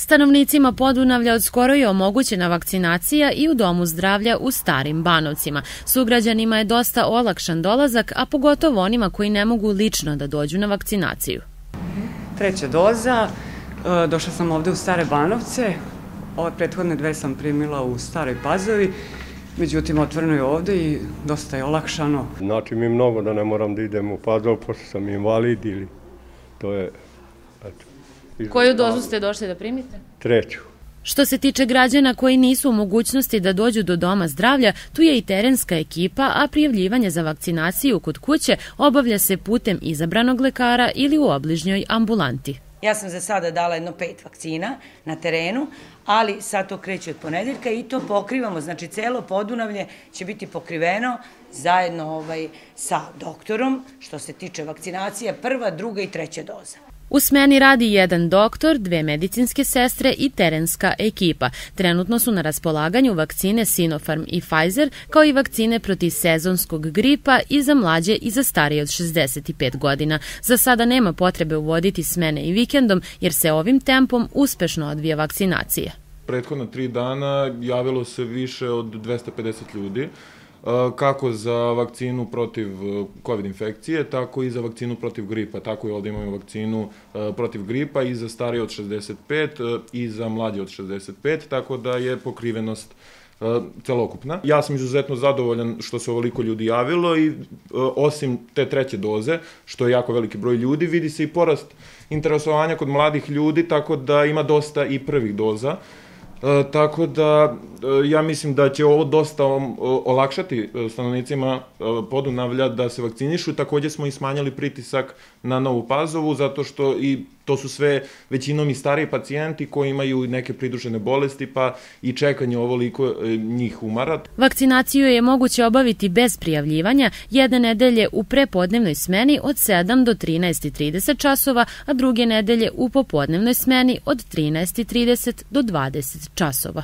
Stanovnicima Podunavlja od skoro je omogućena vakcinacija i u Domu zdravlja u Starim Banovcima. Sugrađanima je dosta olakšan dolazak, a pogotovo onima koji ne mogu lično da dođu na vakcinaciju. Treća doza, došla sam ovde u Stare Banovce, ove prethodne dve sam primila u Staroj Pazovi, međutim otvoreno je ovde i dosta je olakšano. Znači mi mnogo da ne moram da idem u Pazov, pošto sam invalid ili to je... Koju dozu ste došli da primite? Treću. Što se tiče građana koji nisu u mogućnosti da dođu do Doma zdravlja, tu je i terenska ekipa, a prijavljivanje za vakcinaciju kod kuće obavlja se putem izabranog lekara ili u obližnjoj ambulanti. Ja sam za sada dala jedno 5 vakcina na terenu, ali sad to kreće od ponedeljka i to pokrivamo, znači celo Podunavlje će biti pokriveno zajedno sa doktorom što se tiče vakcinacije, prva, druga i treća doza. U smeni radi jedan doktor, 2 medicinske sestre i terenska ekipa. Trenutno su na raspolaganju vakcine Sinopharm i Pfizer, kao i vakcine protiv sezonskog gripa i za mlađe i za starije od 65 godina. Za sada nema potrebe uvoditi smene i vikendom, jer se ovim tempom uspešno odvija vakcinacija. Prethodna 3 dana javilo se više od 250 ljudi, kako za vakcinu protiv COVID infekcije, tako i za vakcinu protiv gripa. Tako i ovdje imamo vakcinu protiv gripa i za starije od 65 i za mlađe od 65, tako da je pokrivenost celokupna. Ja sam izuzetno zadovoljan što se ovoliko ljudi javilo i osim te treće doze, što je jako veliki broj ljudi, vidi se i porast interesovanja kod mladih ljudi, tako da ima dosta i prvih doza. Tako da ja mislim da će ovo dosta olakšati stanovnicima Podunavlja da se vakcinišu. Također smo i smanjili pritisak na Novu Pazovu, zato što i to su sve većinom i stariji pacijenti koji imaju neke pridružene bolesti, pa i čekanje ovoliko njih umara. Vakcinaciju je moguće obaviti bez prijavljivanja jedne nedelje u prepodnevnoj smeni od 7 do 13:30 časova, a druge nedelje u popodnevnoj smeni od 13:30 do 20 časova.